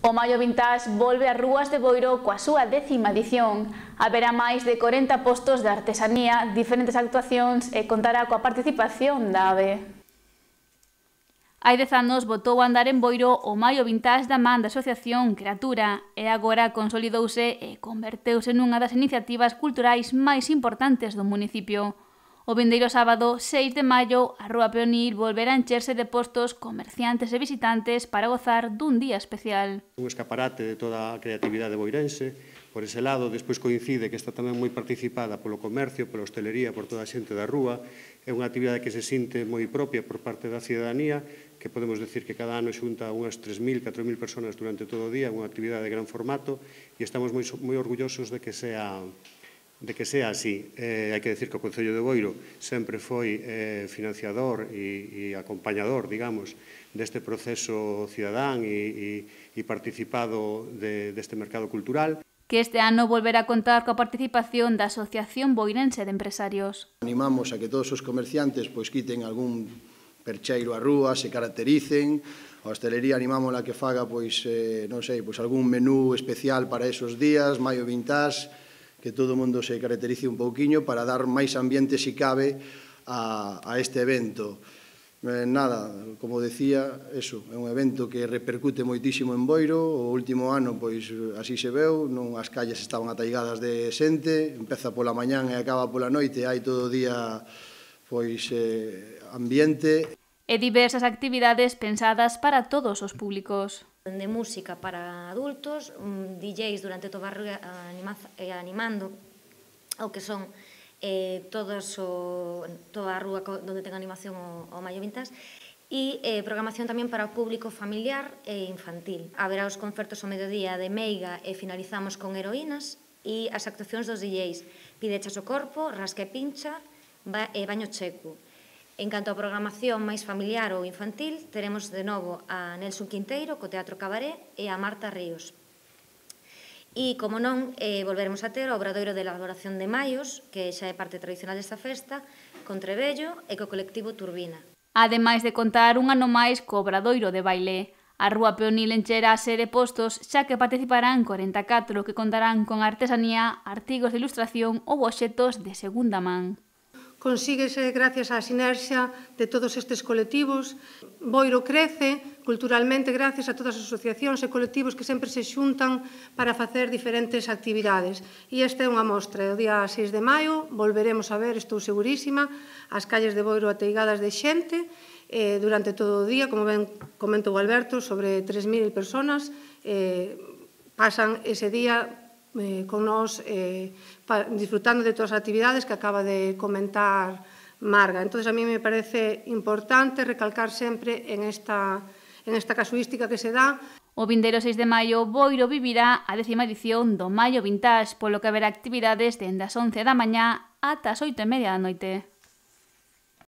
O Maio Vintage volve ás rúas de Boiro coa súa 10ª edición. Haberá máis de 40 postos de artesanía, diferentes actuacións e contará coa participación da AVE. Hai 10 anos botou a andar en Boiro o Maio Vintage da man da Asociación Creatura e agora consolidouse e converteuse nunha das iniciativas culturais máis importantes do municipio. O vindeiro sábado 6 de maio, a Rúa Peonil volverá a encherse de postos, comerciantes e visitantes para gozar dun día especial. Un escaparate de toda a creatividade boirense. Por ese lado, despois coincide que está tamén moi participada polo comercio, pola hostelería, por toda a xente da rúa. É unha actividade que se sinte moi propia por parte da cidadanía, que podemos decir que cada ano xunta unhas 3.000, 4.000 personas durante todo o día, unha actividade de gran formato, e estamos moi orgullosos de que sea así. Hai que decir que o Concello de Boiro sempre foi financiador e acompañador, digamos, deste proceso cidadán e participado deste mercado cultural. Que este ano volverá a contar coa participación da Asociación Boirense de Empresarios. Animamos a que todos os comerciantes quiten algún percheiro á rúa, se caractericen. A hostelería animámola que faga algún menú especial para esos días, Maio Vintage, que todo o mundo se caracterice un pouquiño para dar máis ambiente, se cabe, a este evento. Nada, como decía, é un evento que repercute moitísimo en Boiro. O último ano, así se veu, as calles estaban ataigadas de xente, empeza pola mañán e acaba pola noite, hai todo o día ambiente. E diversas actividades pensadas para todos os públicos. De música para adultos, DJs durante toda a rúa animando o que son toda a rúa onde ten animación o Maio Vintage, e programación tamén para o público familiar e infantil. Haberá os concertos ao mediodía de Meiga e finalizamos con Heroínas, e as actuacións dos DJs Pidechas o Corpo, Rasca e Pincha e Baño Checo. En canto á programación máis familiar ou infantil, teremos de novo a Nelson Quinteiro co Teatro Cabaré e a Marta Ríos. E, como non, volveremos a ter o Obradoiro de elaboración de maios, que xa é parte tradicional desta festa, con Trebello e co colectivo Turbina. Ademais de contar un ano máis co Obradoiro de baile, a Rúa Peonil encherase de postos, xa que participarán 44 que contarán con artesanía, artigos de ilustración ou obxetos de segunda man. Consíguese gracias á sinerxia de todos estes colectivos. Boiro crece culturalmente gracias a todas as asociacións e colectivos que sempre se xuntan para facer diferentes actividades. E esta é unha mostra. O día 6 de maio volveremos a ver, estou segurísima, as calles de Boiro ateigadas de xente durante todo o día, como ben comentou Alberto, sobre 3.000 personas pasan ese día con nós disfrutando de todas as actividades que acaba de comentar Marga. Entón, a mí me parece importante recalcar sempre en esta casuística que se dá. O vindeiro 6 de maio, Boiro vivirá a 10ª edición do Maio Vintage, polo que haberá actividades dende as 11 da mañá ata as 8:30 da noite.